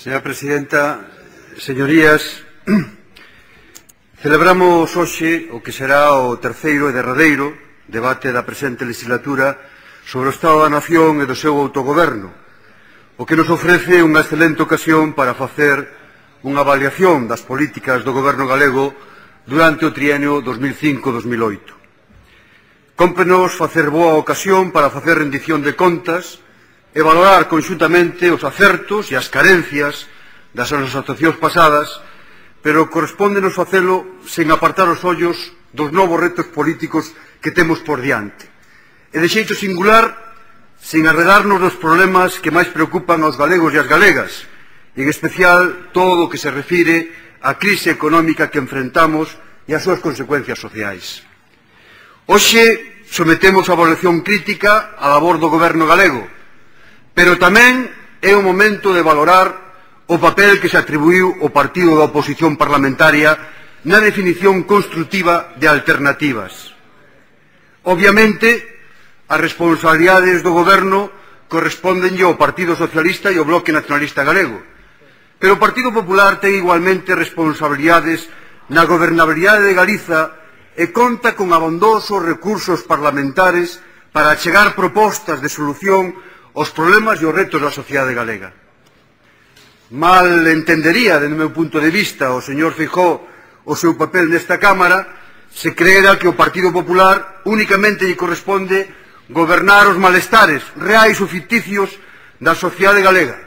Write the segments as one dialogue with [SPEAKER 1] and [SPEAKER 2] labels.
[SPEAKER 1] Señora Presidenta, señorías, celebramos hoxe o que será o terceiro e derradeiro debate da presente legislatura sobre o Estado da Nación e do seu autogoberno, o que nos ofrece unha excelente ocasión para facer unha avaliación das políticas do goberno galego durante o trienio 2005-2008. Cómprenos facer boa ocasión para facer rendición de contas e valorar conxuntamente os acertos e as carencias das nosas actuacións pasadas, pero correspóndenos facelo sen apartar os ollos dos novos retos políticos que temos por diante. E de xeito singular, sen arredarnos dos problemas que máis preocupan aos galegos e as galegas, e en especial todo o que se refire á crise económica que enfrentamos e as súas consecuencias sociais. Hoxe sometemos a evaluación crítica á labor do goberno galego, pero tamén é o momento de valorar o papel que se atribuiu ao partido da oposición parlamentaria na definición construtiva de alternativas. Obviamente, as responsabilidades do goberno correspóndenlle ao Partido Socialista e ao Bloque Nacionalista Galego, pero o Partido Popular ten igualmente responsabilidades na gobernabilidade de Galiza e conta con abondosos recursos parlamentares para achegar propostas de solución aos problemas e os retos da sociedade galega. Mal entendería, dende o meu punto de vista, o señor Feijóo o seu papel nesta Cámara se creera que o Partido Popular únicamente lle corresponde gobernar os malestares reais ou ficticios da sociedade galega.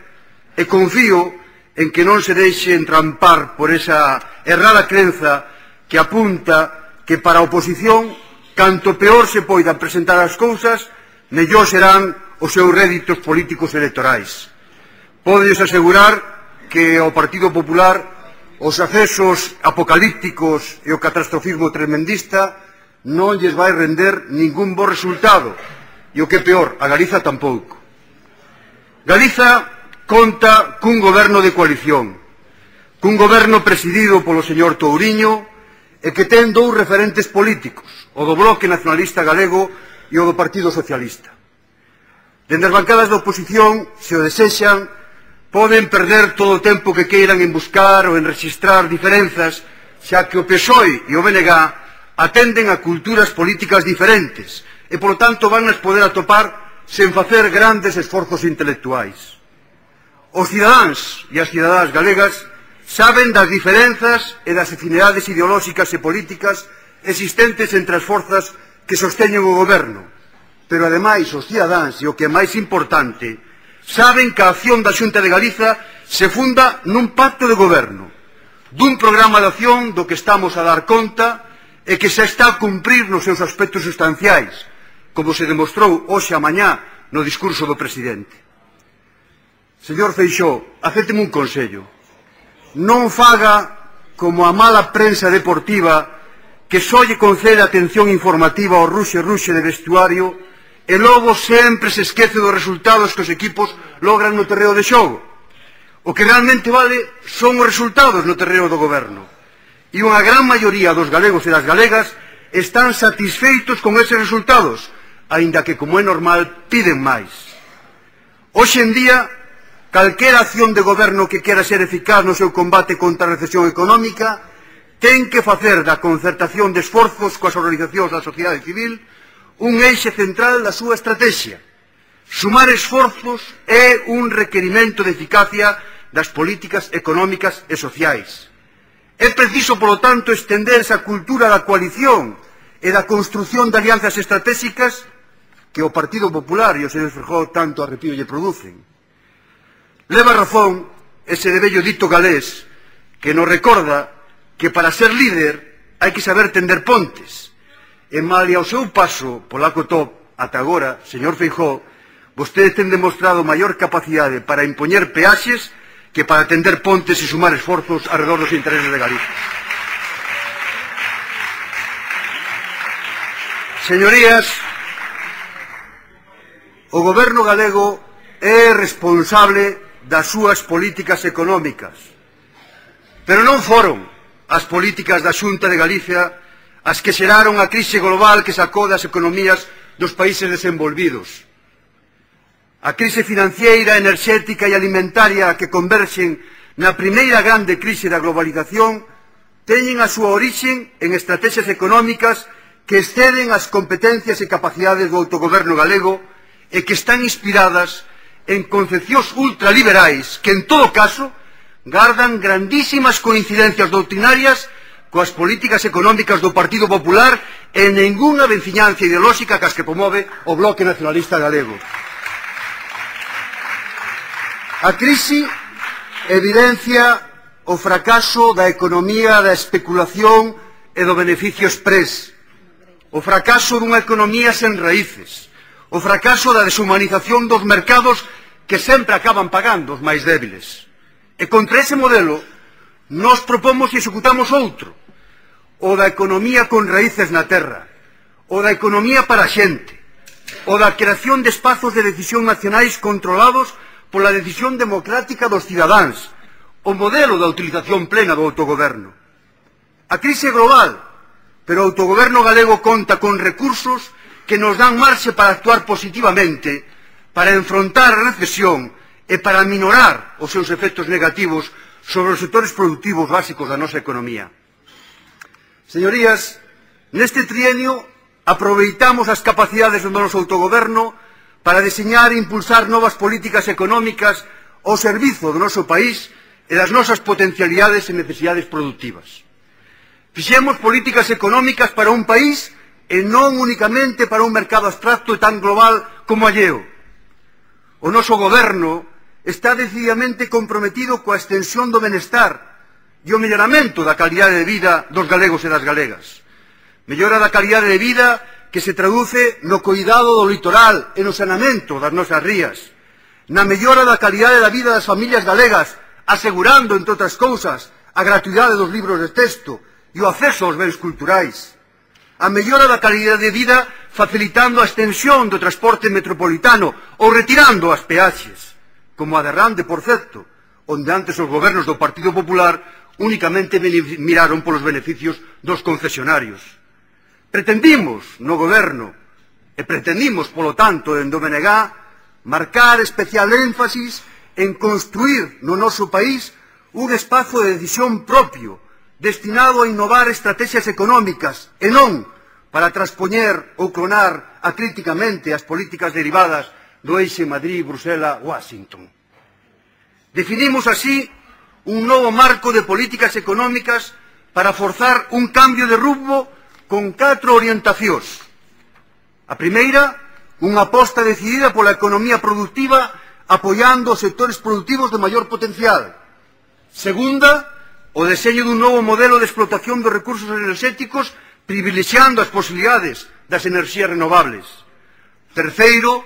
[SPEAKER 1] E confío en que non se deixe entrampar por esa errada crenza que apunta que para a oposición, canto peor se poidan presentar as cousas, mellor serán os seus réditos políticos electorais. Podes asegurar que ao Partido Popular os accesos apocalípticos e o catastrofismo tremendista non lles vai render ningún bo resultado, e o que é peor, a Galiza tampouco. Galiza conta cun goberno de coalición, cun goberno presidido polo señor Touriño e que ten dous referentes políticos, o do Bloque Nacionalista Galego e o do Partido Socialista. Dende as bancadas da oposición, se o desexan, poden perder todo o tempo que queiran en buscar ou en rexistrar diferenzas, xa que o PSOE e o BNG atenden a culturas políticas diferentes e, polo tanto, van a poder atopar sen facer grandes esforzos intelectuais. Os cidadáns e as cidadás galegas saben das diferenzas e das afinidades ideolóxicas e políticas existentes entre as forzas que sosteñen o goberno, pero, ademais, os cidadáns, e o que é máis importante, saben que a acción da Xunta de Galiza se funda nun pacto de goberno, dun programa de acción do que estamos a dar conta e que se está a cumprir nos seus aspectos sustanciais, como se demostrou hoxe a mañá no discurso do presidente. Señor Feixóo, acépteme un consello. Non faga como a mala prensa deportiva que só lle concede atención informativa ao ruxe de vestuario e logo sempre se esquece dos resultados que os equipos logran no terreo de xogo. O que realmente vale son os resultados no terreo do goberno. E unha gran maioría dos galegos e das galegas están satisfeitos con eses resultados, aínda que, como é normal, piden máis. Hoxe en día, calquera acción de goberno que quera ser eficaz no seu combate contra a recesión económica ten que facer da concertación de esforzos coas organizacións da sociedade civil un eixe central da súa estrategia. Sumar esforzos é un requerimento de eficacia das políticas económicas e sociais. É preciso, polo tanto, estender esa cultura da coalición e da construción de alianzas estratégicas que o Partido Popular e o señor Feijóo tanto arrepío lle producen. Leva razón ese de vello dito galés que nos recorda que para ser líder hai que saber tender pontes. E malia ao seu paso polaco top ata agora, señor Feijóo, vostedes ten demostrado maior capacidade para impoñer peaxes que para tender pontes e sumar esforzos arredor dos intereses de Galicia. Señorías, o goberno galego é responsable das súas políticas económicas, pero non foron as políticas da Xunta de Galicia as que xeraron a crise global que sacou das economías dos países desenvolvidos. A crise financiera, enerxética e alimentaria que converxen na primeira grande crise da globalización teñen a súa orixe en estrategias económicas que exceden as competencias e capacidades do autogoberno galego e que están inspiradas en concepcións ultraliberais que, en todo caso, gardan grandísimas coincidencias doutrinarias coas políticas económicas do Partido Popular e ningunha veciñanza ideolóxica cas que promove o Bloque Nacionalista Galego. A crise evidencia o fracaso da economía da especulación e do beneficio exprés, o fracaso dunha economía sen raíces, o fracaso da deshumanización dos mercados que sempre acaban pagando os máis débiles. E contra ese modelo, nós propomos e executamos outro, o da economía con raíces na terra, o da economía para a xente, o da creación de espazos de decisión nacionais controlados pola decisión democrática dos cidadáns, o modelo da utilización plena do autogoberno. A crise é global, pero o autogoberno galego conta con recursos que nos dan marxe para actuar positivamente, para enfrontar a recesión e para minorar os seus efectos negativos sobre os sectores productivos básicos da nosa economía. Señorías, neste trienio aproveitamos as capacidades do noso autogoberno para deseñar e impulsar novas políticas económicas ao servizo do noso país e das nosas potencialidades e necesidades productivas. Fixemos políticas económicas para un país e non únicamente para un mercado abstracto e tan global como alleo. O noso goberno está decididamente comprometido coa extensión do benestar e o melloramento da calidade de vida dos galegos e das galegas. Mellora da calidade de vida que se traduce no cuidado do litoral e no saneamento das nosas rías, na mellora da calidade da vida das familias galegas, asegurando, entre outras cousas, a gratuidade dos libros de texto e o acceso aos bens culturais, a mellora da calidade de vida facilitando a extensión do transporte metropolitano ou retirando as peaxes, como a de Rande, por certo, onde antes os gobernos do Partido Popular únicamente miraron polos beneficios dos concesionarios. Pretendimos no goberno, e pretendimos, polo tanto, en do BNG, marcar especial énfasis en construir no noso país un espazo de decisión propio, destinado a innovar estrategias económicas, e non para transpoñer ou clonar acríticamente as políticas derivadas do eixe Madrid, Bruxelas, Washington. Definimos así un novo marco de políticas económicas para forzar un cambio de rumbo con 4 orientacións. A primeira, unha aposta decidida pola economía productiva apoiando os sectores productivos de maior potencial. Segunda, o deseño dun novo modelo de explotación dos recursos enerxéticos privilexiando as posibilidades das enerxías renovables. Terceiro,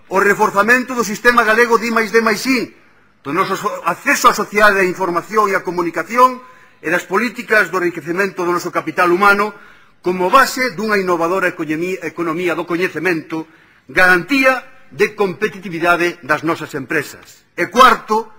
[SPEAKER 1] o reforzamento do sistema galego de I+D+I, do noso acceso á sociedade da información e á comunicación e das políticas do enriquecemento do noso capital humano como base dunha innovadora economía do coñecemento, garantía de competitividade das nosas empresas. E cuarto,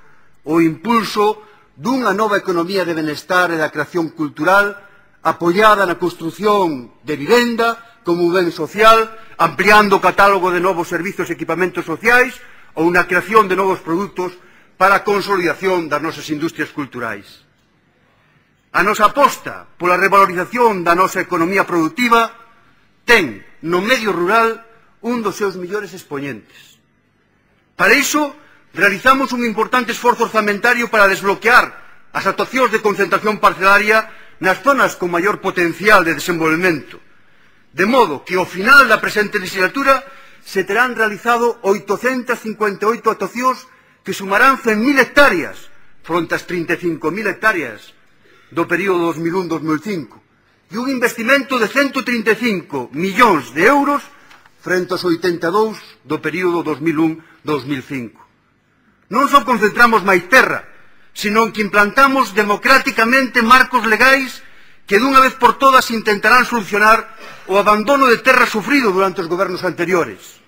[SPEAKER 1] o impulso dunha nova economía de benestar e da creación cultural apoiada na construción de vivenda como un ben social, ampliando o catálogo de novos servizos e equipamentos sociais ou na creación de novos produtos para a consolidación das nosas industrias culturais. A nosa aposta pola revalorización da nosa economía productiva ten no medio rural un dos seus mellores expoñentes. Para iso, realizamos un importante esforzo orzamentario para desbloquear as actuacións de concentración parcelaria nas zonas con maior potencial de desenvolvemento, de modo que ao final da presente legislatura se terán realizado 858 actuacións que sumarán 100.000 hectáreas fronte ás 35.000 hectáreas do período 2001-2005 e un investimento de 135 millóns de euros frente aos 82 do período 2001-2005. Non só concentramos máis terra, sino que implantamos democráticamente marcos legais que dunha vez por todas intentarán solucionar o abandono de terra sufrido durante os gobernos anteriores.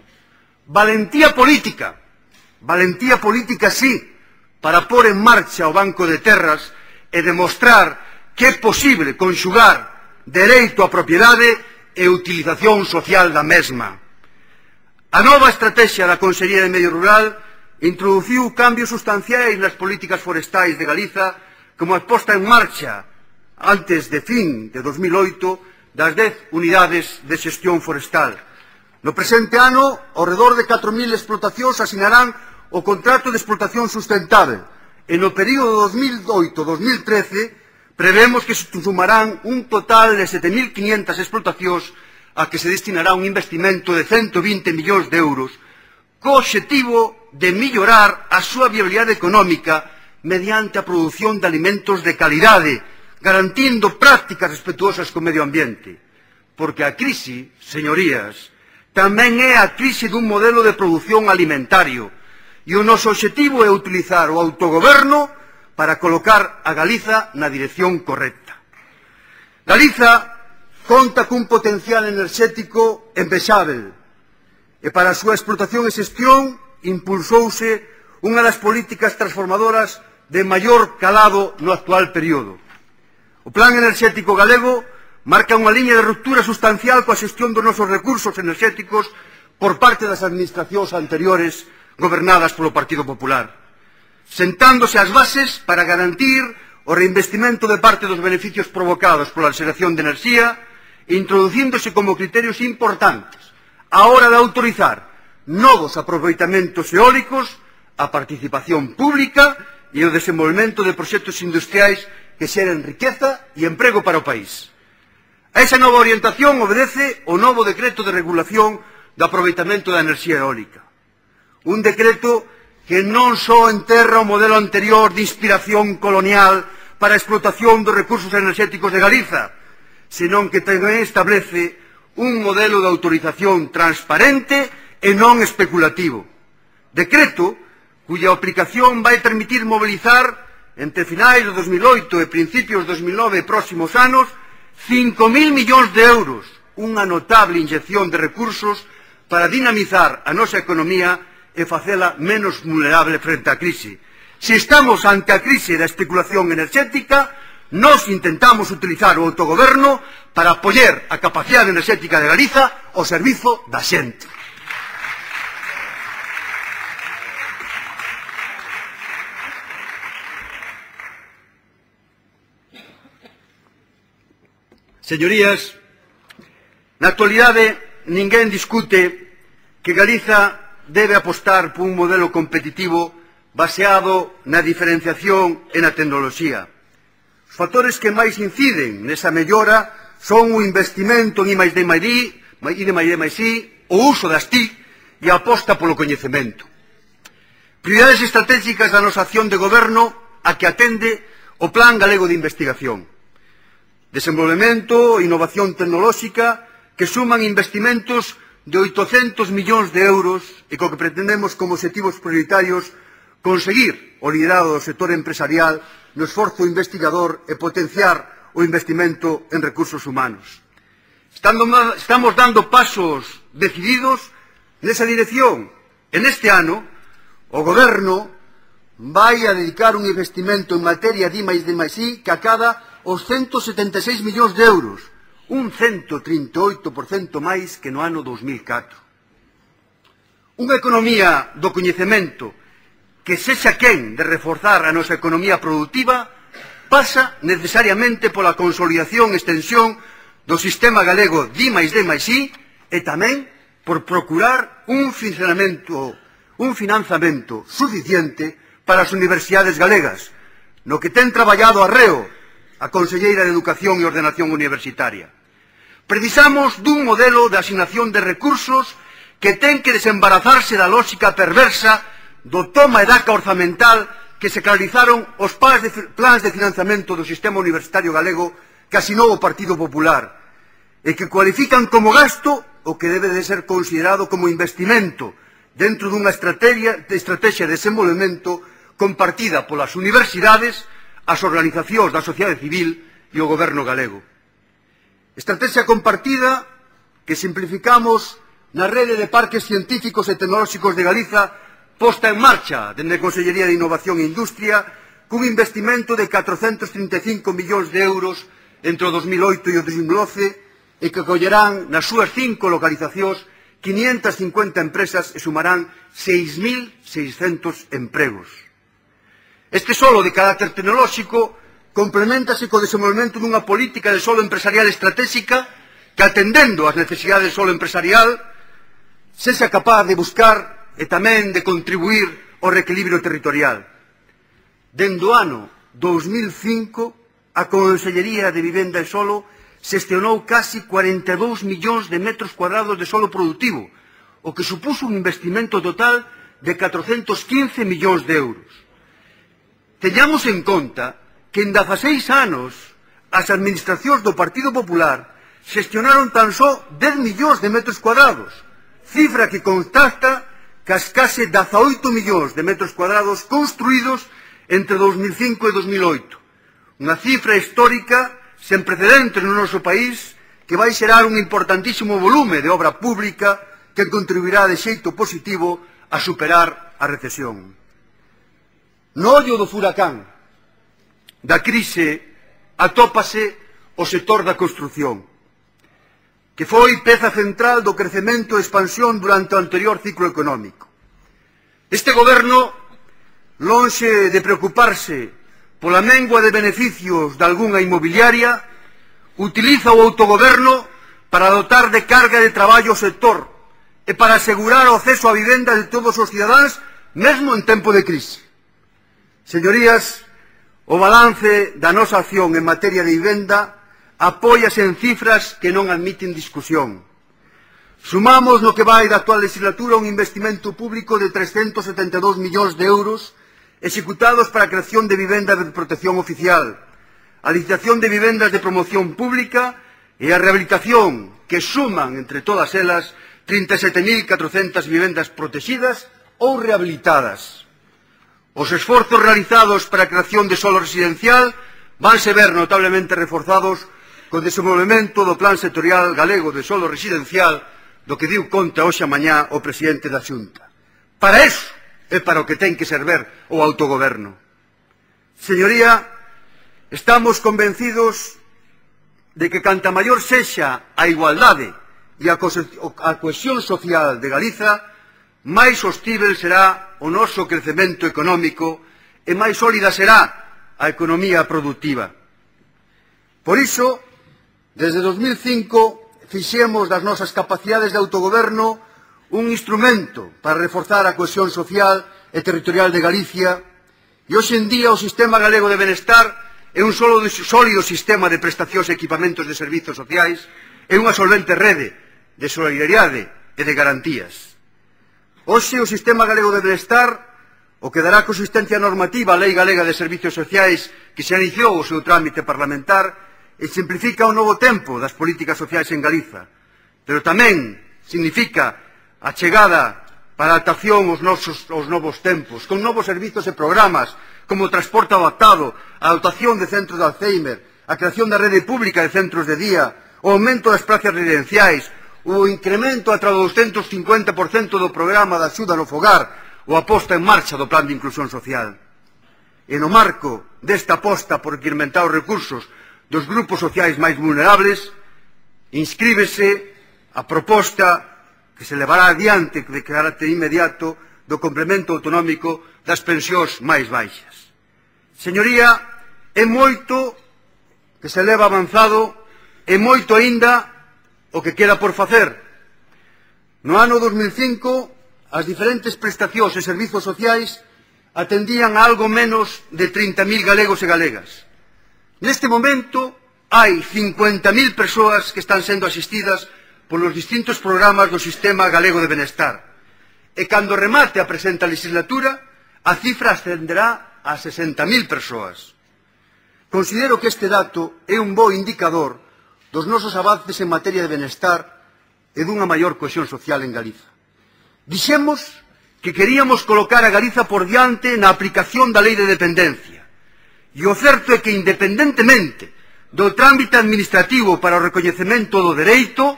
[SPEAKER 1] Valentía política sí, para pôr en marcha o Banco de Terras e demostrar que é posible conxugar dereito á propiedade e utilización social da mesma. A nova estrategia da Consellería de Medio Rural introduciu cambios sustanciais nas políticas forestais de Galiza, como a posta en marcha, antes de fin de 2008, das 10 unidades de xestión forestal. No presente ano, ao redor de 4.000 explotacións asinarán o contrato de explotación sustentável, e no período 2008-2013 prevemos que se sumarán un total de 7.500 explotacións a que se destinará un investimento de 120 millóns de euros, co obxectivo de mellorar a súa viabilidade económica mediante a produción de alimentos de calidade, garantindo prácticas respetuosas co medio ambiente. Porque a crise, señorías, tamén é a crise dun modelo de produción alimentario, e o noso obxectivo é utilizar o autogoberno para colocar a Galiza na dirección correcta. Galiza conta cun potencial enerxético envexável, e para a súa explotación e xestión impulsouse unha das políticas transformadoras de maior calado no actual período. O Plan Enerxético Galego marca unha liña de ruptura sustancial coa xestión dos nosos recursos enerxéticos por parte das administracións anteriores gobernadas polo Partido Popular, sentándose as bases para garantir o reinvestimento de parte dos beneficios provocados pola xeración de enerxía, introducíndose como criterios importantes a hora de autorizar novos aproveitamentos eólicos, a participación pública e o desenvolvemento de proxectos industriais que xeren riqueza e emprego para o país. A esa nova orientación obedece o novo decreto de regulación do aproveitamento da enerxía eólica. Un decreto que non só enterra o modelo anterior de inspiración colonial para a explotación dos recursos enerxéticos de Galiza, senón que tamén establece un modelo de autorización transparente e non especulativo. Decreto cuya aplicación vai permitir mobilizar entre finais de 2008 e principios de 2009 e próximos anos 5.000 millóns de euros, unha notable inyección de recursos para dinamizar a nosa economía e facela menos vulnerable frente á crise. Se estamos ante a crise da especulación enerxética, nós intentamos utilizar o autogoberno para apoiar a capacidade enerxética de Galiza ao servizo da xente. Señorías, na actualidade ninguén discute que Galiza debe apostar por un modelo competitivo baseado na diferenciación e na tecnoloxía. Os factores que máis inciden nesa mellora son o investimento en I+D+I, o uso das TIC e a aposta polo coñecemento. Prioridades estratégicas da nosa acción de goberno a que atende o Plan Galego de Investigación. Desenvolvemento e innovación tecnolóxica que suman investimentos de 800 millóns de euros e co que pretendemos como obxectivos prioritarios conseguir o liderado do sector empresarial no esforzo investigador e potenciar o investimento en recursos humanos. Estamos dando pasos decididos nesa dirección. En este ano, o Goberno vai a dedicar un investimento en materia de I+D+I que acada os 176 millóns de euros, un 138% máis que no ano 2004. Unha economía do coñecemento que sexa quen de reforzar a nosa economía productiva pasa necesariamente pola consolidación e extensión do sistema galego de I+D+I e tamén por procurar un financiamento suficiente para as universidades galegas, no que ten traballado arreo a Conselleira de Educación e Ordenación Universitaria. Precisamos dun modelo de asignación de recursos que ten que desembarazarse da lógica perversa do toma e daca orzamental que se realizaron os plans de financiamento do sistema universitario galego que asinou o Partido Popular e que cualifican como gasto o que debe de ser considerado como investimento dentro dunha estrategia de desenvolvemento compartida polas universidades, as organizacións da sociedade civil e o goberno galego. Estrategia compartida que simplificamos na rede de parques científicos e tecnolóxicos de Galiza posta en marcha dende a Consellería de Innovación e Industria cun investimento de 435 millóns de euros entre o 2008 e o 2012 e que acollerán nas súas 5 localizacións 550 empresas e sumarán 6.600 empregos. Este solo de carácter tecnolóxico complementase co desenvolvemento dunha política de solo empresarial estratégica que, atendendo ás necesidades do solo empresarial, sexa capaz de buscar e tamén de contribuir ao reequilibrio territorial. Dende o ano 2005, a Consellería de Vivenda e Solo xestionou casi 42 millóns de metros cuadrados de solo productivo, o que supuso un investimento total de 415 millóns de euros. Teñamos en conta que en 16 anos as administracións do Partido Popular xestionaron tan só 10 millóns de metros cuadrados, cifra que contrasta cas case 18 millóns de metros cuadrados construídos entre 2005 e 2008. Unha cifra histórica sen precedentes no noso país que vai xerar un importantísimo volume de obra pública que contribuirá de xeito positivo a superar a recesión. No ollo do furacán da crise atópase o sector da construción, que foi peza central do crecemento e expansión durante o anterior ciclo económico. Este goberno, lonxe de preocuparse pola mengua de beneficios de algunha inmobiliaria, utiliza o autogoberno para dotar de carga de traballo ao sector e para asegurar o acceso á vivenda de todos os cidadáns, mesmo en tempo de crise. Señorías, o balance da nosa acción en materia de vivenda apóiase en cifras que non admiten discusión. Sumamos no que vai da actual legislatura un investimento público de 372 millóns de euros executados para a creación de vivendas de protección oficial, a licitación de vivendas de promoción pública e a rehabilitación, que suman entre todas elas 37.400 vivendas protegidas ou rehabilitadas. Os esforzos realizados para a creación de solo residencial vanse ver notablemente reforzados co desenvolvemento do Plan Sectorial Galego de Solo Residencial, do que diu conta hoxe a mañá o presidente da Xunta. Para iso é para o que ten que servir o autogoberno. Señoría, estamos convencidos de que canta maior sexa a igualdade e a cohesión social de Galiza, máis sostível será o noso crecemento económico e máis sólida será a economía productiva. Por iso, desde 2005, fixemos das nosas capacidades de autogoberno un instrumento para reforzar a cohesión social e territorial de Galicia, e hoxe en día o Sistema Galego de Benestar é un sólido sistema de prestacións e equipamentos de servizos sociais e unha solvente rede de solidariedade e de garantías. Hoxe o Sistema Galego de Benestar, o que dará consistencia normativa á Lei Galega de Servizos Sociais que se iniciou o seu trámite parlamentar e simplifica o novo tempo das políticas sociais en Galiza, pero tamén significa a chegada para a adaptación aos novos tempos, con novos servizos e programas como o transporte adaptado, a dotación de centros de Alzheimer, a creación da rede pública de centros de día, o aumento das plazas residenciais, o incremento ata o 250% do programa de axuda no fogar ou a posta en marcha do Plan de Inclusión Social. E no marco desta aposta por incrementar os recursos dos grupos sociais máis vulnerables, inscríbese a proposta que se levará adiante de carácter inmediato do complemento autonómico das pensións máis baixas. Señoría, é moito que se leva avanzado e moito aínda o que queda por facer. No ano 2005, as diferentes prestacións e servizos sociais atendían a algo menos de 30.000 galegos e galegas. Neste momento, hai 50.000 persoas que están sendo asistidas polos distintos programas do Sistema Galego de Benestar. E cando remate a presente legislatura, a cifra ascenderá a 60.000 persoas. Considero que este dato é un bo indicador dos nosos avances en materia de benestar e dunha maior cohesión social en Galiza. Dixemos que queríamos colocar a Galiza por diante na aplicación da Lei de Dependencia. E o certo é que, independentemente do trámite administrativo para o recoñecemento do dereito,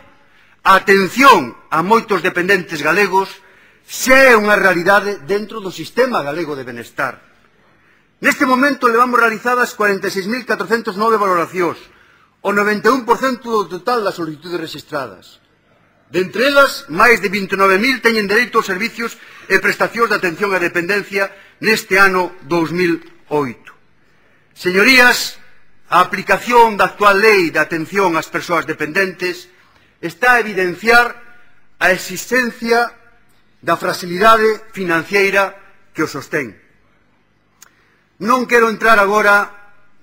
[SPEAKER 1] a atención a moitos dependentes galegos xa é unha realidade dentro do Sistema Galego de Benestar. Neste momento levamos realizadas 46.409 valoracións, o 91% do total das solicitudes registradas. Dentre elas, máis de 29.000 teñen dereito aos servicios e prestacións de atención á dependencia neste ano 2008. Señorías, a aplicación da actual lei de atención ás persoas dependentes está a evidenciar a existencia da fragilidade financiera que o sostén. Non quero entrar agora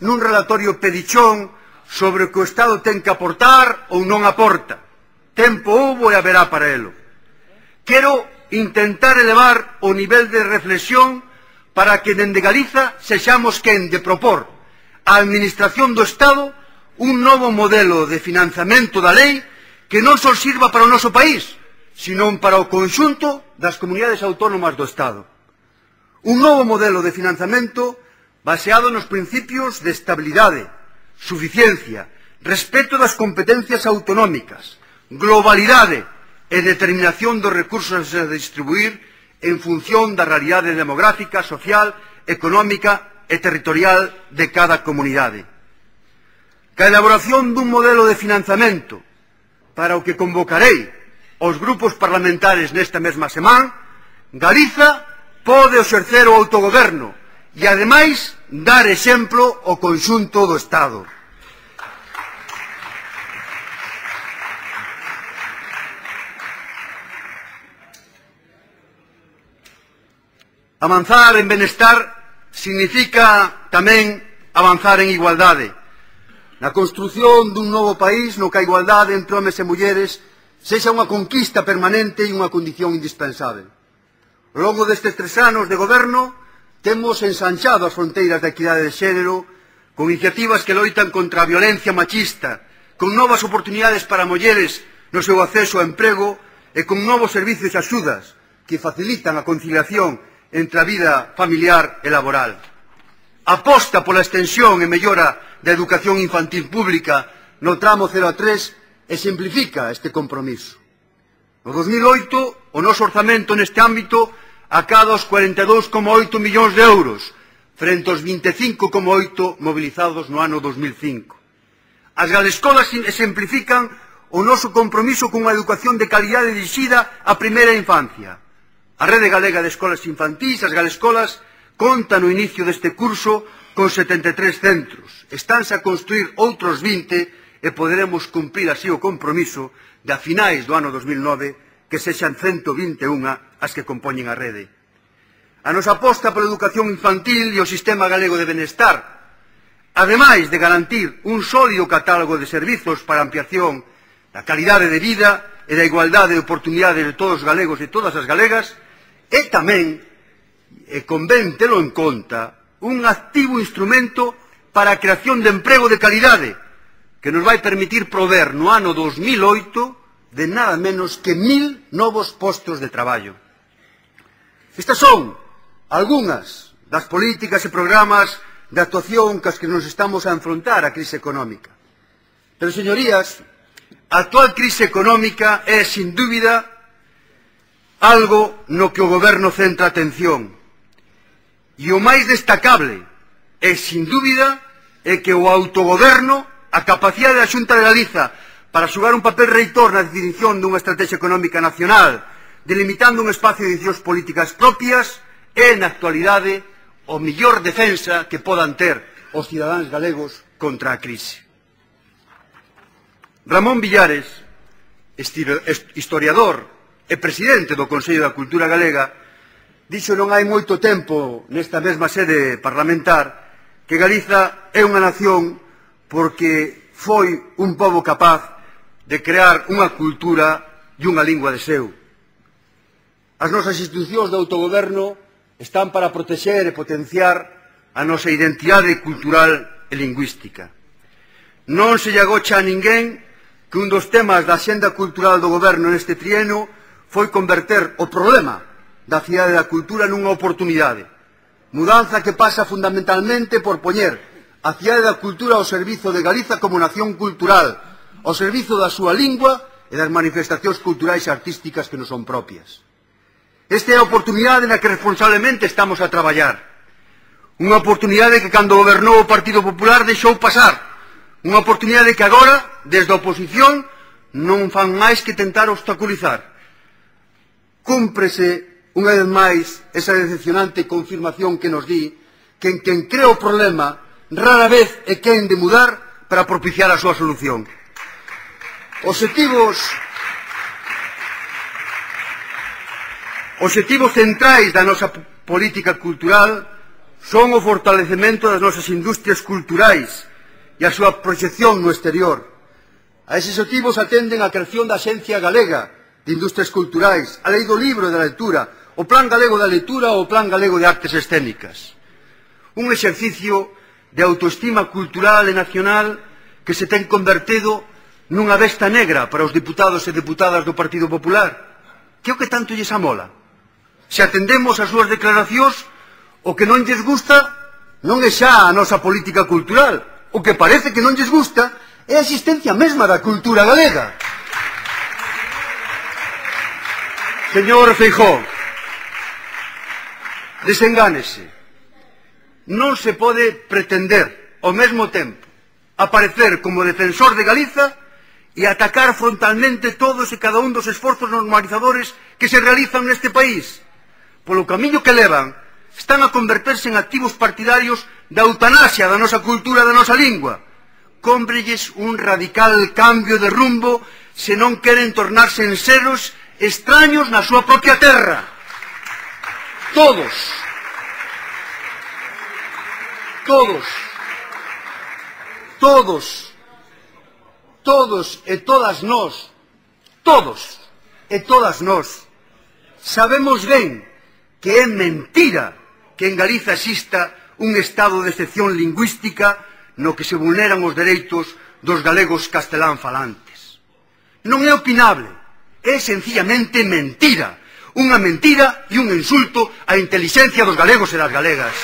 [SPEAKER 1] nun relatorio pedichón sobre o que o Estado ten que aportar ou non aporta. Tempo houbo e haberá para elo. Quero intentar elevar o nivel de reflexión para que dende Galiza sexamos quen de propor á Administración do Estado un novo modelo de financiamento da lei que non só sirva para o noso país, senón para o conxunto das comunidades autónomas do Estado. Un novo modelo de financiamento baseado nos principios de estabilidade, suficiencia, respeto das competencias autonómicas, globalidade e determinación dos recursos a distribuir en función da realidade demográfica, social, económica e territorial de cada comunidade. Que a elaboración dun modelo de financiamento para o que convocarei os grupos parlamentares nesta mesma semana, Galiza pode exercer o autogoberno e, ademais, dar exemplo ao conxunto do Estado. Avanzar en benestar significa tamén avanzar en igualdade. Na construción dun novo país no que a igualdade entre homes e mulleres sexa unha conquista permanente e unha condición indispensable. Ao longo destes 3 anos de goberno temos ensanchado as fronteiras da equidade de xénero con iniciativas que loitan contra a violencia machista, con novas oportunidades para mulleres no seu acceso ao emprego e con novos servizos e axudas que facilitan a conciliación entre a vida familiar e laboral. Aposta pola extensión e mellora da educación infantil pública no tramo 0 a 3 e simplifica este compromiso. No 2008, o noso orzamento neste ámbito acada os 42,8 millóns de euros, frente aos 25,8 mobilizados no ano 2005. As galescolas exemplifican o noso compromiso con unha educación de calidade dirixida á primeira infancia. A Rede Galega de Escolas Infantís, as galescolas, conta no inicio deste curso con 73 centros. Estánse a construir outros 20 e poderemos cumprir así o compromiso de a finais do ano 2009 que sexan 121 as que compoñen a rede. A nosa aposta pola educación infantil e o sistema galego de benestar, ademais de garantir un sólido catálogo de servizos para a ampliación da calidade de vida e da igualdade de oportunidades de todos os galegos e todas as galegas, é tamén, e convén telo en conta, un activo instrumento para a creación de emprego de calidade que nos vai permitir prover no ano 2008 de nada menos que 1.000 novos postos de traballo. Estas son algunhas das políticas e programas de actuación cas que nos estamos a enfrontar á crise económica. Pero, señorías, a actual crise económica é, sin dúbida, algo no que o goberno centra atención. E o máis destacable é, sin dúbida, é que o autogoberno, a capacidade da Xunta de Galiza para xogar un papel reitor na definición dunha estrategia económica nacional, delimitando un espacio de decisións políticas propias, é, na actualidade, o mellor defensa que podan ter os cidadáns galegos contra a crise. Ramón Villares, historiador e presidente do Consello da Cultura Galega, dixo non hai moito tempo nesta mesma sede parlamentar que Galiza é unha nación porque foi un pobo capaz de crear unha cultura e unha lingua de seu. As nosas institucións de autogoberno están para protexer e potenciar a nosa identidade cultural e lingüística. Non se lle agocha a ninguén que un dos temas da axenda cultural do goberno neste trienio foi converter o problema da cidade da cultura nunha oportunidade. Mudanza que pasa fundamentalmente por poñer a cidade da cultura ao servizo de Galiza como nación cultural, ao servizo da súa lingua e das manifestacións culturais e artísticas que non son propias. Esta é a oportunidade na que responsablemente estamos a traballar. Unha oportunidade que cando gobernou o Partido Popular deixou pasar. Unha oportunidade que agora, desde a oposición, non fan máis que tentar obstaculizar. Cúmprese, unha vez máis, esa decepcionante confirmación que nos di que en quen crea o problema rara vez é quen de mudar para propiciar a súa solución. Obxectivos centrais da nosa política cultural son o fortalecemento das nosas industrias culturais e a súa proxección no exterior. A eses obxectivos atenden a creación da Axencia Galega de Industrias Culturais, a Lei do Libro e da Lectura, o Plan Galego da Lectura ou o Plan Galego de Artes Escénicas. Un exercicio de autoestima cultural e nacional que se ten convertido nunha besta negra para os deputados e deputadas do Partido Popular. Que é o que tanto lles amola? Se atendemos as súas declaracións, o que non lles gusta non é xa a nosa política cultural. O que parece que non lles gusta é a existencia mesma da cultura galega. Señor Feijóo, desengánese. Non se pode pretender, ao mesmo tempo, aparecer como defensor de Galiza e atacar frontalmente todos e cada un dos esforzos normalizadores que se realizan neste país. Polo camiño que levan, están a converterse en activos partidarios da eutanasia da nosa cultura, da nosa lingua. Cómbrelles un radical cambio de rumbo se non queren tornarse en seros extraños na súa propia terra. Todos e todas nós sabemos ben que é mentira que en Galiza exista un estado de excepción lingüística no que se vulneran os dereitos dos galegos castelán falantes. Non é opinable, é sencillamente mentira. Unha mentira e un insulto á intelixencia dos galegos e das galegas.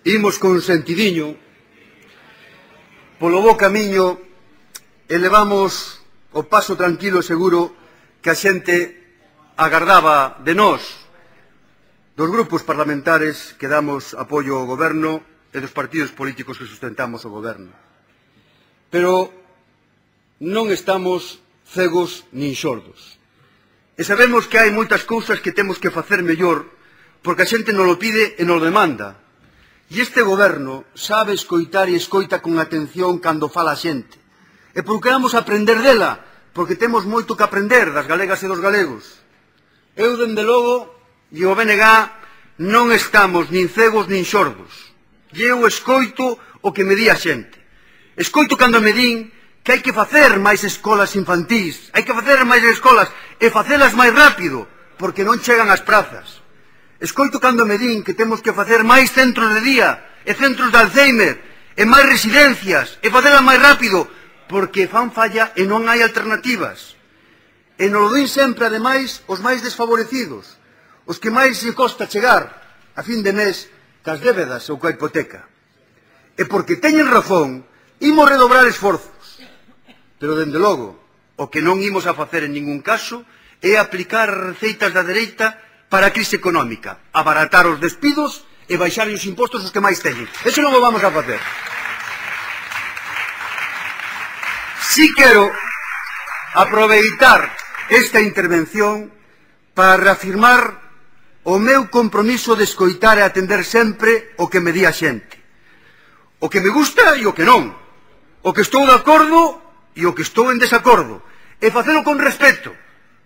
[SPEAKER 1] Imos con sentidiño polo bo camiño e levamos o paso tranquilo e seguro que a xente agardaba de nós, dos grupos parlamentares que damos apoio ao goberno e dos partidos políticos que sustentamos o goberno. Pero non estamos cegos nin xordos. E sabemos que hai moitas cousas que temos que facer mellor porque a xente non o pide e non o demanda. E este goberno sabe escoitar e escoita con atención cando fala a xente. E procuramos aprender dela, porque temos moito que aprender das galegas e dos galegos. Eu, dende logo, e o BNG, non estamos nin cegos nin xordos. E eu escoito o que me di a xente. Escoito cando me din que hai que facer máis escolas infantís, hai que facer máis escolas e facelas máis rápido, porque non chegan ás prazas. Escoito cando me din que temos que facer máis centros de día e centros de Alzheimer e máis residencias e facelas máis rápido porque fan falla e non hai alternativas. E nos lo din sempre, ademais, os máis desfavorecidos, os que máis se costa chegar a fin de mes cas débedas ou coa hipoteca. E porque teñen razón, imos redobrar esforzos. Pero, dende logo, o que non imos a facer en ningún caso é aplicar receitas da dereita para a crise económica, abaratar os despidos e baixar os impostos os que máis teñen. Eso non o vamos a facer. Si quero aproveitar esta intervención para reafirmar o meu compromiso de escoitar e atender sempre o que me di a xente. O que me gusta e o que non. O que estou de acordo e o que estou en desacordo. E facelo con respeto,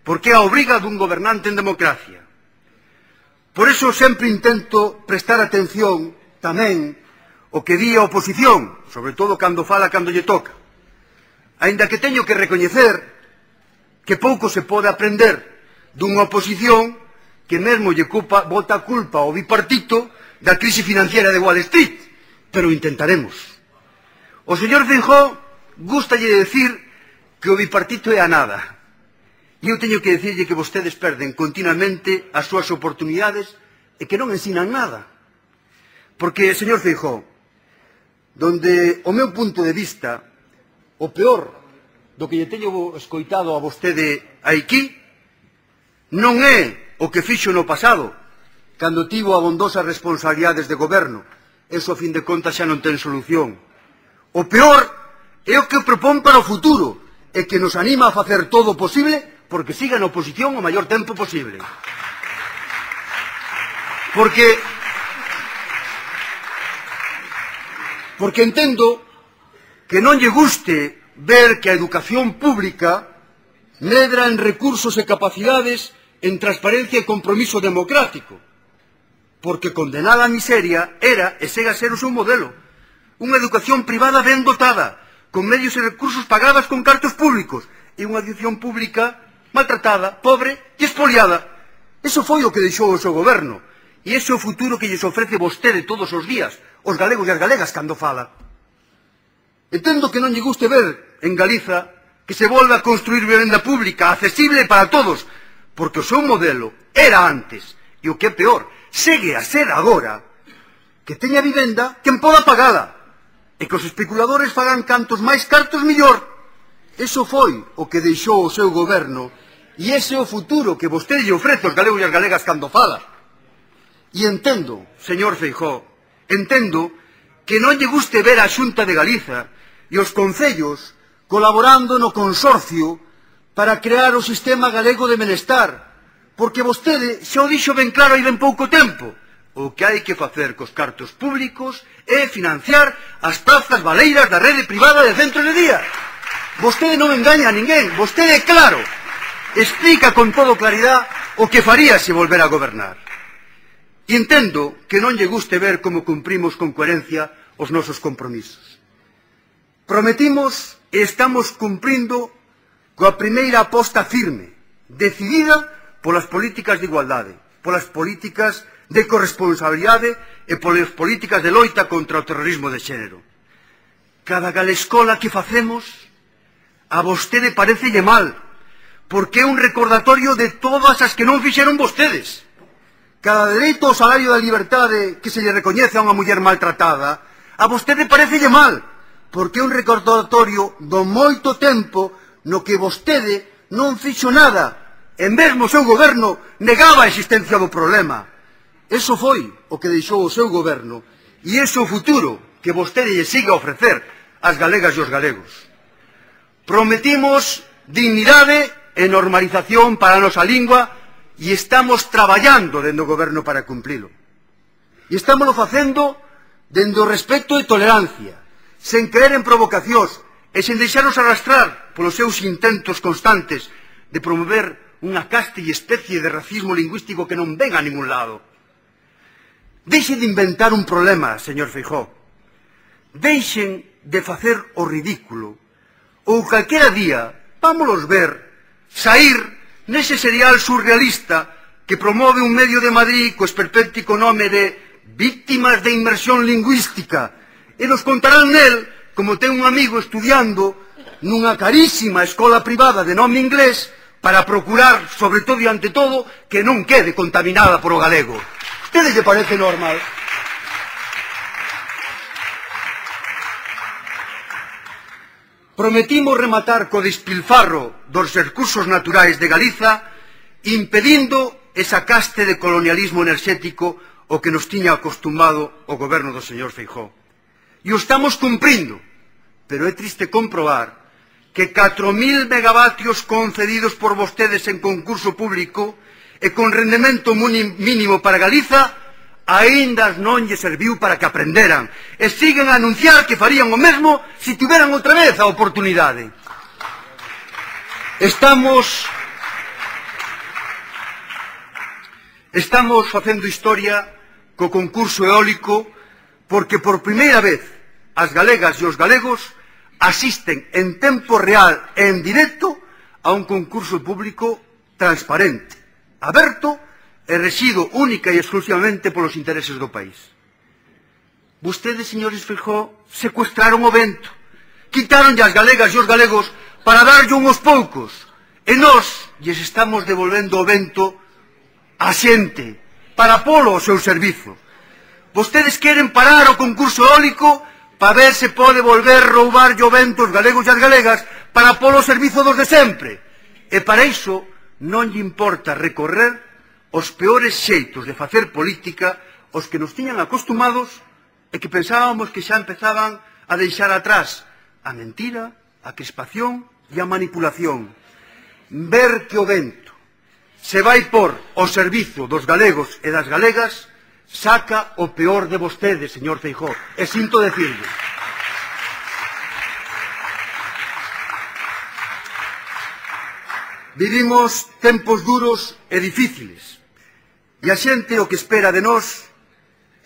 [SPEAKER 1] porque é a obriga dun gobernante en democracia. Por iso sempre intento prestar atención tamén o que di a oposición, sobre todo cando fala cando lle toca. Aínda que teño que recoñecer que pouco se pode aprender dunha oposición que mesmo lle bota a culpa ao bipartito da crise financiera de Wall Street, pero intentaremos. O señor Feijóo gústalle decir que o bipartito é a nada. E eu teño que dicirlle que vostedes perden continuamente as súas oportunidades e que non ensinan nada. Porque, señor Feijóo, donde, o meu punto de vista, o peor do que lle teño escoitado a vostede aquí non é o que fixo no pasado, cando tivo abondosas responsabilidades de goberno. Eso, a fin de contas, xa non ten solución. O peor é o que propón para o futuro, e que nos anima a facer todo o posible porque siga na oposición o maior tempo posible. Porque entendo que non lle guste ver que a educación pública medra en recursos e capacidades, en transparencia e compromiso democrático, porque condenar a miseria era e segue a ser o seu modelo. Unha educación privada ben dotada, con medios e recursos pagadas con cartos públicos, e unha educación pública maltratada, pobre e expoliada. Eso foi o que deixou o seu goberno, e ese é o futuro que lles ofrece vostede todos os días, os galegos e as galegas, cando fala. Entendo que non lle guste ver en Galiza que se volve a construir vivenda pública accesible para todos, porque o seu modelo era antes, e o que é peor, segue a ser agora, que teña vivenda quen poda pagala, e que os especuladores fagan cantos máis cartos millor. Eso foi o que deixou o seu goberno, e ese é o futuro que vostede lle ofrece aos galegos e as galegas cando fala. E entendo, señor Feijóo, entendo que non lle guste ver a Xunta de Galiza e os concellos colaborando no consorcio para crear o sistema galego de benestar, porque vostede xa o dixo ben claro hai ben pouco tempo. O que hai que facer cos cartos públicos é financiar as prazas baleiras da rede privada de centros de día. Vostede non engaña a ninguén, vostede, claro, explica con todo claridade o que faría se volver a gobernar. E entendo que non lle guste ver como cumprimos con coherencia os nosos compromisos. Prometimos e estamos cumprindo coa primeira aposta firme, decidida polas políticas de igualdade, polas políticas de corresponsabilidade e polas políticas de loita contra o terrorismo de xénero. Cada galescola que facemos a vostede parecelle mal, porque é un recordatorio de todas as que non fixeron vostedes. Cada dereito ao salario da liberdade que se lle recoñece a unha muller maltratada, a vostede parecelle mal, porque é un recordatorio do moito tempo no que vostede non fixo nada, e mesmo o seu goberno negaba a existencia do problema. Eso foi o que deixou o seu goberno, e ese é o futuro que vostede lle siga a ofrecer ás galegas e aos galegos. Prometimos dignidade e normalización para a nosa lingua, e estamos traballando dende o goberno para cumprilo. E estámoslo facendo dende o respeto e tolerancia, sen creer en provocacións e sen deixarnos arrastrar polos seus intentos constantes de promover unha caste e especie de racismo lingüístico que non ven a ningún lado. Deixen de inventar un problema, señor Feijóo. Deixen de facer o ridículo. Ou calquera día, vámonos ver, saír nese serial surrealista que promove un medio de Madrid co esperpéntico nome de Víctimas de Inmersión Lingüística, e nos contarán nel como ten un amigo estudiando nunha carísima escola privada de nome inglés para procurar, sobre todo e ante todo, que non quede contaminada por o galego. ¿Ustedes lle parece normal? Prometimos rematar co despilfarro dos recursos naturais de Galiza, impedindo esa caste de colonialismo enerxético o que nos tiña acostumado o goberno do señor Feijóo. E o estamos cumprindo, pero é triste comprobar que 4.000 megavatios concedidos por vostedes en concurso público e con rendemento mínimo para Galiza aínda non lle serviu para que aprenderan e siguen a anunciar que farían o mesmo se tiveran outra vez a oportunidade. Estamos facendo historia co concurso eólico porque por primeira vez as galegas e os galegos asisten en tempo real e en directo a un concurso público transparente, aberto e rexido única e exclusivamente polos intereses do país. Vostedes, señores Feijóo, secuestraron o vento, quitaron as galegas e os galegos para darlle uns poucos, e nós lles estamos devolvendo o vento á xente, para polo ao seu servizo. Vostedes queren parar o concurso eólico para ver se pode volver roubar o vento os galegos e as galegas para polo servizo dos de sempre. E para iso non lle importa recorrer os peores xeitos de facer política os que nos tiñan acostumados e que pensábamos que xa empezaban a deixar atrás a mentira, a crispación e a manipulación. Ver que o vento se vai por o servizo dos galegos e das galegas saca o peor de vostede, señor Feijóo, e sinto decirlo. Vivimos tempos duros e difíciles, e a xente o que espera de nós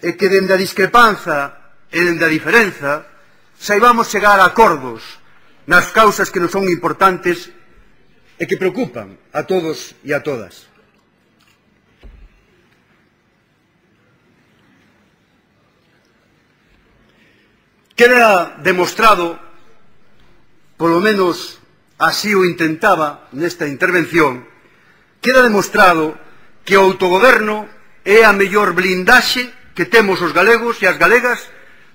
[SPEAKER 1] é que dende a discrepanza e dende a diferenza saibamos chegar a acordos nas causas que nos son importantes e que preocupan a todos e a todas. Queda demostrado, polo menos así o intentaba nesta intervención, queda demostrado que o autogoberno é a mellor blindaxe que temos os galegos e as galegas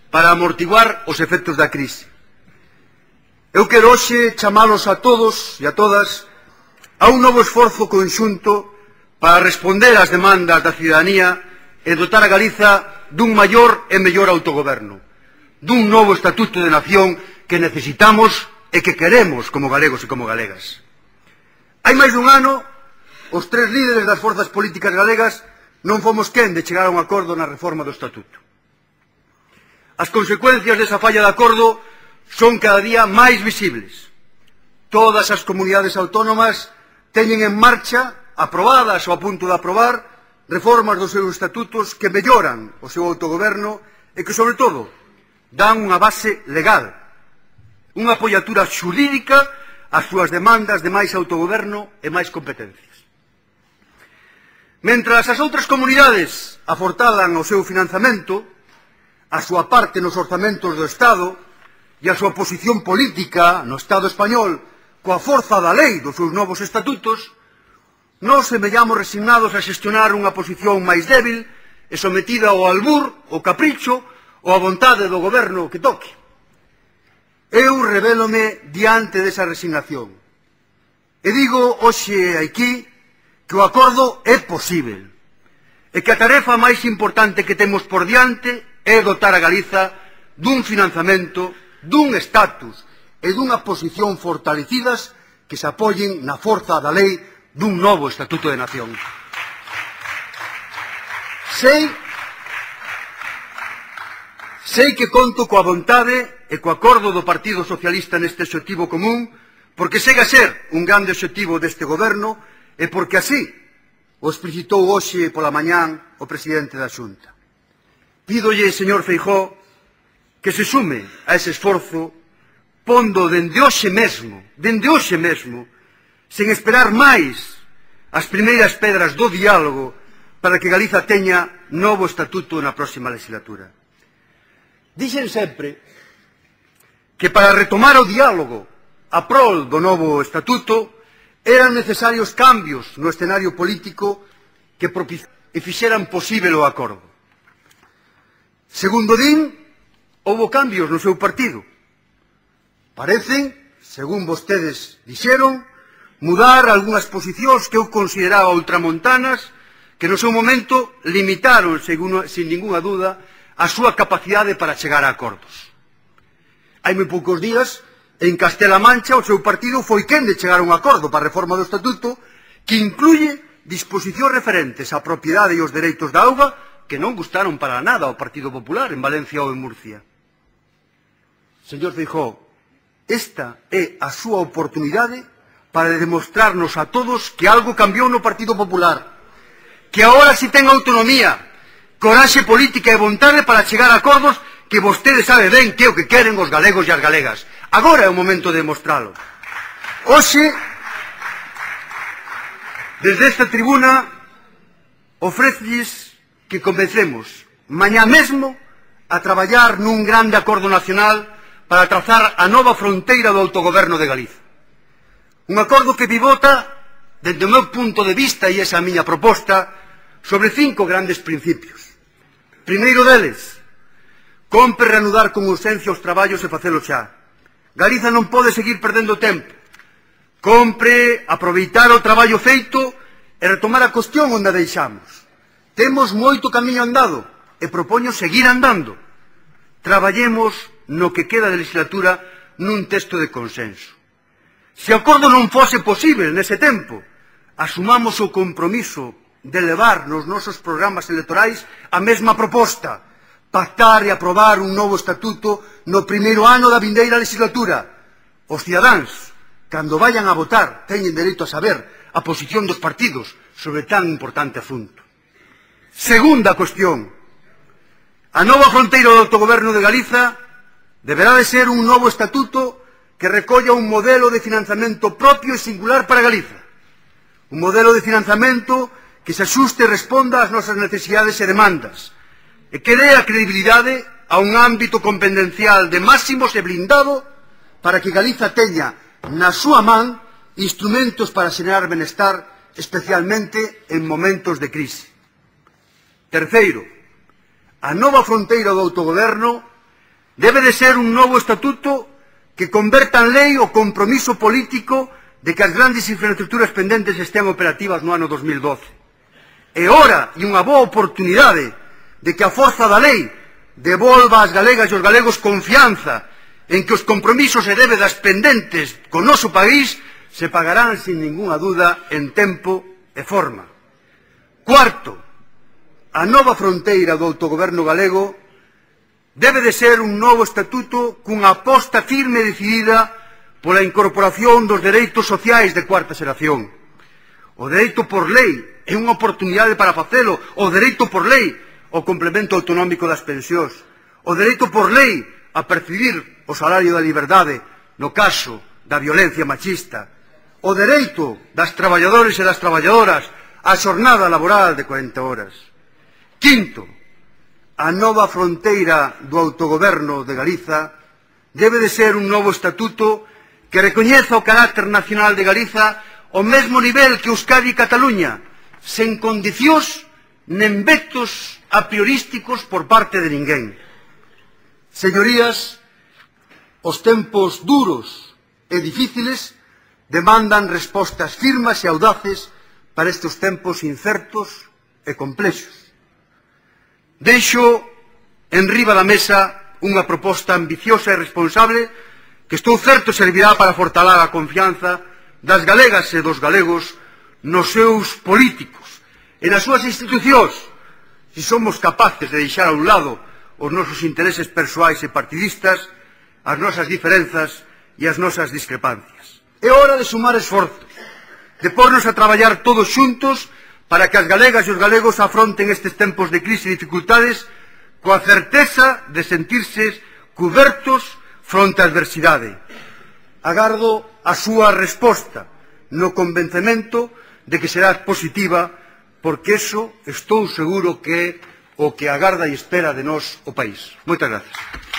[SPEAKER 1] para amortiguar os efectos da crise. Eu quero hoxe chamalos a todos e a todas a un novo esforzo conxunto para responder ás demandas da cidadanía e dotar a Galiza dun maior e mellor autogoberno, dun novo estatuto de nación que necesitamos e que queremos como galegos e como galegas. Hai máis dun ano, os tres líderes das forzas políticas galegas non fomos quen de chegar a un acordo na reforma do estatuto. As consecuencias desa falla de acordo son cada día máis visibles. Todas as comunidades autónomas teñen en marcha, aprobadas ou a punto de aprobar, reformas dos seus estatutos que melloran o seu autogoberno e que, sobre todo, dan unha base legal, unha apoiatura xurídica ás súas demandas de máis autogoberno e máis competencias. Mentras as outras comunidades afortalan o seu financiamento, a súa parte nos orzamentos do Estado e a súa posición política no Estado español coa forza da lei dos seus novos estatutos, nós semellamos resignados a xestionar unha posición máis débil e sometida ao albur, ao capricho ou a vontade do goberno que toque. Eu revélome diante desa resignación. E digo hoxe aquí que o acordo é posível e que a tarefa máis importante que temos por diante é dotar a Galiza dun financiamento, dun estatus e dunha posición fortalecidas que se apoyen na forza da lei dun novo estatuto de nación. Sei que conto coa vontade e co acordo do Partido Socialista neste obxectivo común, porque segue a ser un grande obxectivo deste goberno e porque así o explicitou hoxe pola mañán o presidente da Xunta. Pídolle, señor Feijóo, que se sume a ese esforzo pondo dende hoxe mesmo, sen esperar máis as primeiras pedras do diálogo para que Galiza teña novo estatuto na próxima legislatura. Dixen sempre que para retomar o diálogo a prol do novo estatuto eran necesarios cambios no escenario político que fixeran posible o acordo. Segundo din, houbo cambios no seu partido. Parecen, según vostedes dixeron, mudar algunhas posicións que eu consideraba ultramontanas que no seu momento limitaron, sin ninguna duda, a súa capacidade para chegar a acordos. Hai moi poucos días, en Castela Mancha, o seu partido foi quen de chegar a un acordo para a reforma do estatuto que incluye disposicións referentes á propiedade e os dereitos da auga que non gustaron para nada ao Partido Popular en Valencia ou en Murcia. Señor Feijóo, esta é a súa oportunidade para demostrarnos a todos que algo cambiou no Partido Popular, que agora si ten autonomía, coraxe política e vontade para chegar a acordos que vostede sabe ben que é o que queren os galegos e as galegas. Agora é o momento de demostralo. Hoxe, desde esta tribuna, ofrécelles que comecemos mañá mesmo a traballar nun grande acordo nacional para trazar a nova fronteira do autogoberno de Galiza. Un acordo que pivota, dende o meu punto de vista, e esa é a miña proposta, sobre 5 grandes principios. Primeiro deles, Compre reanudar con urxencia os traballos e facelo xa. Galiza non pode seguir perdendo tempo. Compre aproveitar o traballo feito e retomar a cuestión onde a deixamos. Temos moito camiño andado e propoño seguir andando. Traballemos no que queda de legislatura nun texto de consenso. Se o acordo non fose posible nese tempo, asumamos o compromiso de levar nos nosos programas electorais a mesma proposta, pactar e aprobar un novo estatuto no primeiro ano da vindeira legislatura. Os cidadáns, cando vayan a votar, teñen dereito a saber a posición dos partidos sobre tan importante asunto. Segunda cuestión. A nova fronteira do autogoberno de Galiza deberá de ser un novo estatuto que recolla un modelo de financiamento propio e singular para Galiza. Un modelo de financiamento que se axuste e responda ás nosas necesidades e demandas, e que dé a credibilidade a un ámbito competencial de máximos e blindado para que Galiza teña na súa man instrumentos para xenerar benestar, especialmente en momentos de crise. Terceiro, a nova fronteira do autogoberno debe de ser un novo estatuto que converta en lei o compromiso político de que as grandes infraestructuras pendentes estean operativas no ano 2012. É hora e unha boa oportunidade de que a forza da lei devolva ás galegas e aos galegos confianza en que os compromisos e débedas pendentes co noso país se pagarán sin ninguna duda en tempo e forma. Cuarto, a nova fronteira do autogoberno galego debe de ser un novo estatuto cunha aposta firme e decidida pola incorporación dos dereitos sociais de cuarta xeración. O dereito por lei é unha oportunidade para facelo, o dereito por lei o complemento autonómico das pensións, o dereito por lei a percibir o salario da liberdade no caso da violencia machista, o dereito das traballadores e das traballadoras á xornada laboral de 40 horas. Quinto, a nova fronteira do autogoberno de Galiza debe de ser un novo estatuto que recoñeza o carácter nacional de Galiza ao mesmo nivel que Euskadi e Cataluña, sen condicións nen vetos a priorísticos por parte de ninguén. Señorías, os tempos duros e difíciles demandan respostas firmes e audaces para estes tempos incertos e complexos. Deixo enriba da mesa unha proposta ambiciosa e responsable que estou certo servirá para fortalar a confianza das galegas e dos galegos nos seus políticos e nas súas institucións, se somos capaces de deixar a un lado os nosos intereses persoais e partidistas, as nosas diferenzas e as nosas discrepancias. É hora de sumar esforzos, de pornos a traballar todos xuntos para que as galegas e os galegos afronten estes tempos de crise e dificultades coa certeza de sentirse cubertos fronte á adversidade. Agardo a súa resposta no convencemento de que será positiva, porque eso estou seguro que é o que agarda e espera de nós o país. Moitas gracias.